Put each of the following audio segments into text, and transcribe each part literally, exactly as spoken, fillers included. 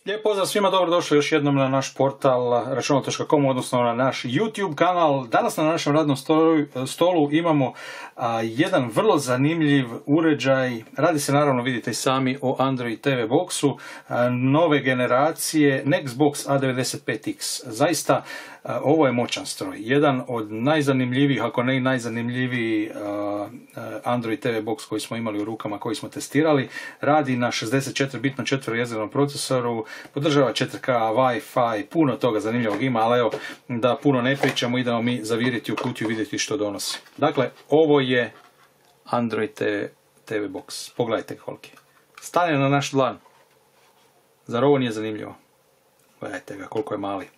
Lijep pozdrav svima, dobrodošli još jednom na naš portal računalo točka com, odnosno na naš YouTube kanal. Danas na našem radnom stolu, stolu imamo a, jedan vrlo zanimljiv uređaj. Radi se, naravno, vidite i sami, o Android T V Boxu a, nove generacije Nextbox A devedeset pet X. Zaista, a, ovo je moćan stroj. Jedan od najzanimljivijih, ako ne i najzanimljiviji a, Android T V Box koji smo imali u rukama, koji smo testirali. Radi na šezdeset četiri bitnom četverojezernom procesoru, podržava četiri K, Wi-Fi, puno toga zanimljivog ima, ali evo, da puno ne pričamo, idemo mi zaviriti u kutiju i vidjeti što donosi. Dakle, ovo je Android T V Box. Pogledajte koliki. Stane na naš dlan. Zar ovo nije zanimljivo? Gledajte ga, koliko je mali.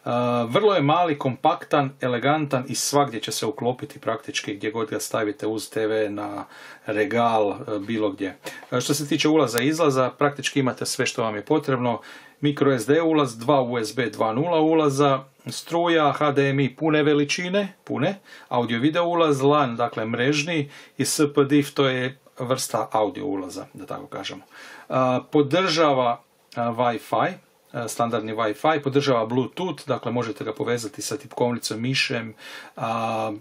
Uh, vrlo je mali, kompaktan, elegantan i svagdje će se uklopiti praktički gdje god ga stavite uz T V, na regal, uh, bilo gdje. Uh, što se tiče ulaza i izlaza, praktički imate sve što vam je potrebno. Micro S D ulaz, dva U S B dva nula ulaza, struja, H D M I pune veličine, pune, audio video ulaz, LAN, dakle mrežni, i S P D I F, to je vrsta audio ulaza, da tako kažemo. Uh, podržava uh, Wi-Fi, standardni Wi-Fi, podržava Bluetooth, dakle možete ga povezati sa tipkovnicom, mišem, a,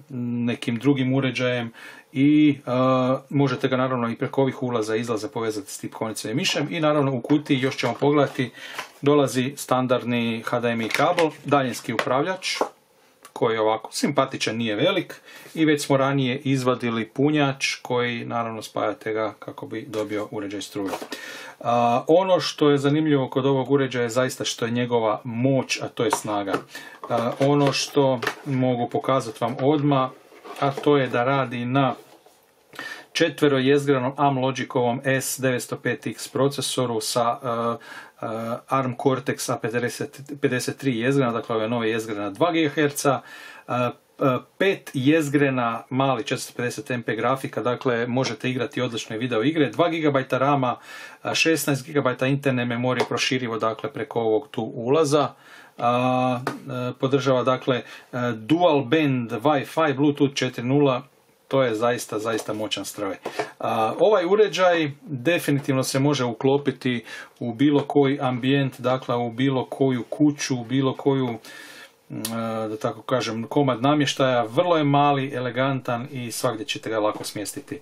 nekim drugim uređajem i a, možete ga naravno i preko ovih ulaza i izlaza povezati s tipkovnicom i mišem. I naravno u kutiji, još ćemo pogledati, dolazi standardni H D M I kabel, daljinski upravljač koji je ovako simpatičan, nije velik, i već smo ranije izvadili punjač koji naravno spajate ga kako bi dobio uređaj struje. Uh, ono što je zanimljivo kod ovog uređaja je zaista što je njegova moć, a to je snaga. Uh, ono što mogu pokazati vam odmah, a to je da radi na četverojezgranom Amlogikovom S devetsto pet X procesoru sa uh, uh, ARM Cortex A pedeset tri jezgrena, dakle ove nove jezgrena dva gigaherca, uh, pet jezgrena mali četiristo pedeset M P grafika, dakle možete igrati odlične video igre, dva gigabajta rama, šesnaest gigabajta interne memorije proširivo, dakle preko ovog tu ulaza. A, podržava dakle dual band Wi-Fi, Bluetooth četiri nula, to je zaista, zaista moćan stroj. A, ovaj uređaj definitivno se može uklopiti u bilo koji ambijent, dakle u bilo koju kuću, u bilo koju, da tako kažem, komad namještaja. Vrlo je mali, elegantan i svagdje ćete ga lako smjestiti.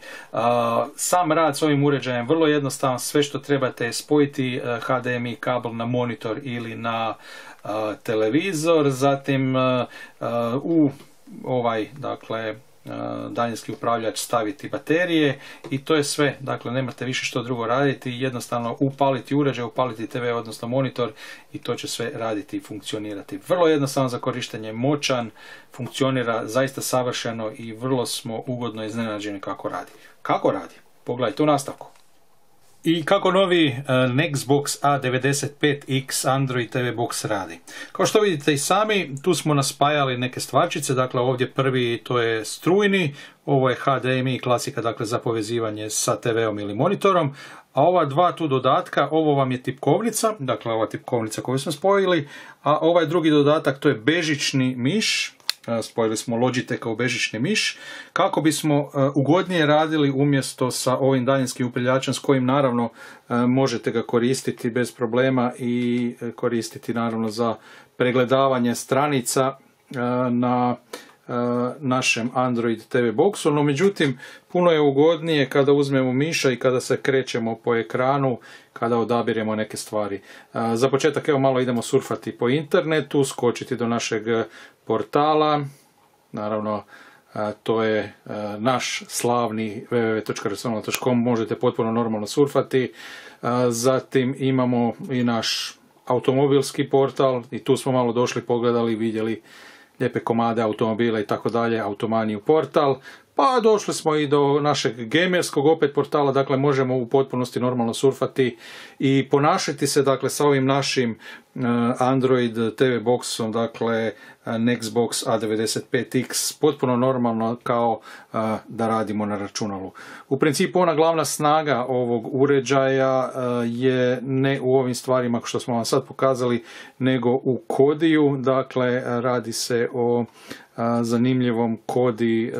Sam rad s ovim uređajem vrlo jednostavan, sve što trebate je spojiti H D M I kabel na monitor ili na televizor, zatim u ovaj, dakle, daljinski upravljač staviti baterije i to je sve. Dakle, nemate više što drugo raditi, jednostavno upaliti uređaj, upaliti T V, odnosno monitor, i to će sve raditi i funkcionirati. Vrlo jednostavno za korištenje, moćan, funkcionira zaista savršeno i vrlo smo ugodno iznenađeni kako radi. Kako radi? Pogledajte u nastavku. I kako novi uh, Nextbox A devedeset pet X Android T V Box radi. Kao što vidite i sami, tu smo naspajali neke stvarčice, dakle ovdje prvi to je strujni, ovo je H D M I klasika, dakle za povezivanje sa T V-om ili monitorom, a ova dva tu dodatka, ovo vam je tipkovnica, dakle ova tipkovnica koju smo spojili, a ovaj drugi dodatak to je bežični miš. Spojili smo Logitecha u bežični miš kako bismo uh, ugodnije radili umjesto sa ovim daljinskim upravljačem s kojim naravno uh, možete ga koristiti bez problema i uh, koristiti naravno za pregledavanje stranica uh, na uh, našem Android T V Boxu, no međutim puno je ugodnije kada uzmemo miša i kada se krećemo po ekranu, kada odabiremo neke stvari. Uh, za početak evo malo idemo surfati po internetu, skočiti do našeg portala, naravno a, to je a, naš slavni w w w točka računalo točka com, možete potpuno normalno surfati. A, zatim imamo i naš automobilski portal i tu smo malo došli, pogledali, vidjeli lijepe komade automobila i tako dalje, Automaniju portal. Pa došli smo i do našeg gamerskog opet portala, dakle možemo u potpunosti normalno surfati i ponašati se, dakle, sa ovim našim uh, Android T V Boxom, dakle uh, Nextbox A devedeset pet X, potpuno normalno kao uh, da radimo na računalu. U principu ona glavna snaga ovog uređaja uh, je ne u ovim stvarima što smo vam sad pokazali, nego u kodiju, dakle radi se o zanimljivom kodi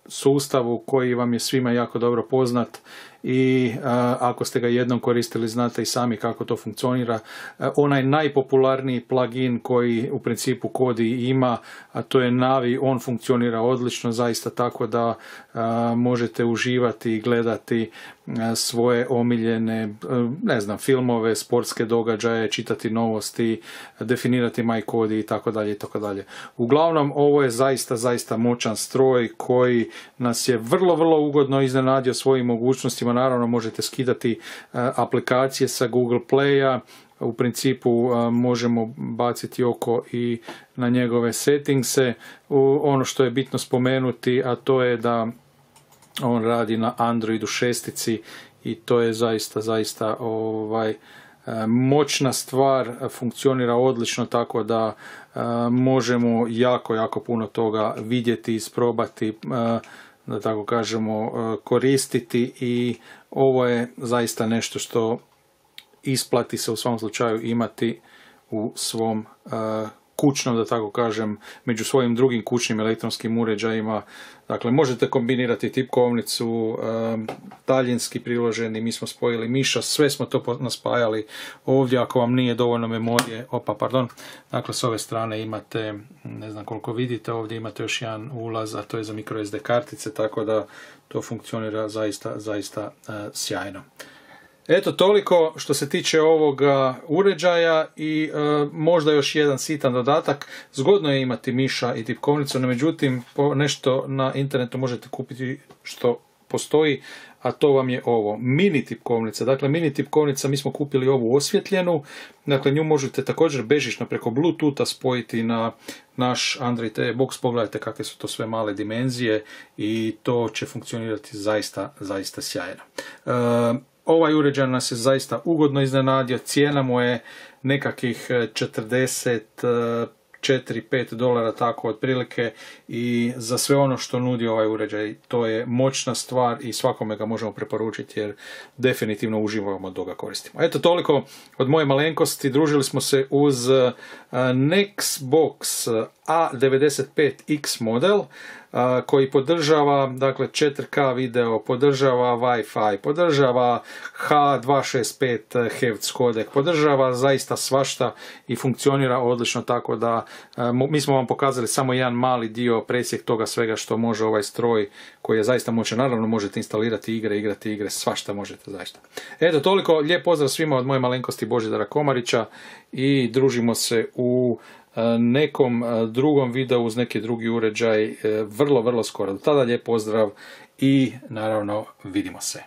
sustavu koji vam je svima jako dobro poznat i a, ako ste ga jednom koristili znate i sami kako to funkcionira. A, onaj najpopularniji plugin koji u principu Kodi ima, a to je Navi, on funkcionira odlično zaista, tako da a, možete uživati i gledati a, svoje omiljene, a, ne znam, filmove, sportske događaje, čitati novosti, definirati MyKodi i tako dalje i tako dalje. Uglavnom, ovo je zaista, zaista moćan stroj koji nas je vrlo, vrlo ugodno iznenadio svojim mogućnostima. Naravno, možete skidati a, aplikacije sa Google Playa. U principu a, možemo baciti oko i na njegove settingse. U, ono što je bitno spomenuti, a to je da on radi na Androidu šestici i to je zaista, zaista ovaj, moćna stvar, funkcionira odlično, tako da možemo jako, jako puno toga vidjeti, isprobati, da tako kažemo, koristiti i ovo je zaista nešto što isplati se u svom slučaju imati u svom kućnom, da tako kažem, među svojim drugim kućnim elektronskim uređajima. Dakle, možete kombinirati tipkovnicu, daljinski priloženi, mi smo spojili miša, sve smo to naspajali ovdje. Ako vam nije dovoljno memorije, opa, pardon, dakle, s ove strane imate, ne znam koliko vidite, ovdje imate još jedan ulaz, a to je za microSD kartice, tako da to funkcionira zaista, zaista sjajno. Eto, toliko što se tiče ovoga uređaja i e, možda još jedan sitan dodatak. Zgodno je imati miša i tipkovnicu, no međutim po nešto na internetu možete kupiti što postoji, a to vam je ovo, mini tipkovnica. Dakle, mini tipkovnica, mi smo kupili ovu osvjetljenu, dakle nju možete također bežično preko Bluetootha spojiti na naš Android T V box. Pogledajte kakve su to sve male dimenzije i to će funkcionirati zaista, zaista sjajno. E, Ovaj uređaj nas je zaista ugodno iznenadio, cijena mu je nekakvih četrdeset četiri pet dolara, tako otprilike, i za sve ono što nudi ovaj uređaj, to je moćna stvar i svakome ga možemo preporučiti jer definitivno uživamo dok ga koristimo. Eto, toliko od moje malenkosti. Družili smo se uz Nextbox A devedeset pet X model koji podržava, dakle, četiri K video, podržava Wi-Fi, podržava H dvjesto šezdeset pet hertz kodek, podržava zaista svašta i funkcionira odlično, tako da mi smo vam pokazali samo jedan mali dio, presjek toga svega što može ovaj stroj koji je zaista moćan. Naravno, možete instalirati igre, igrati igre, svašta možete zaista. Eto, toliko, lijep pozdrav svima od moje malenkosti Božidara Komarića i družimo se u nekom drugom videu uz neki drugi uređaj vrlo, vrlo skoro. Do tada lijep pozdrav i naravno vidimo se.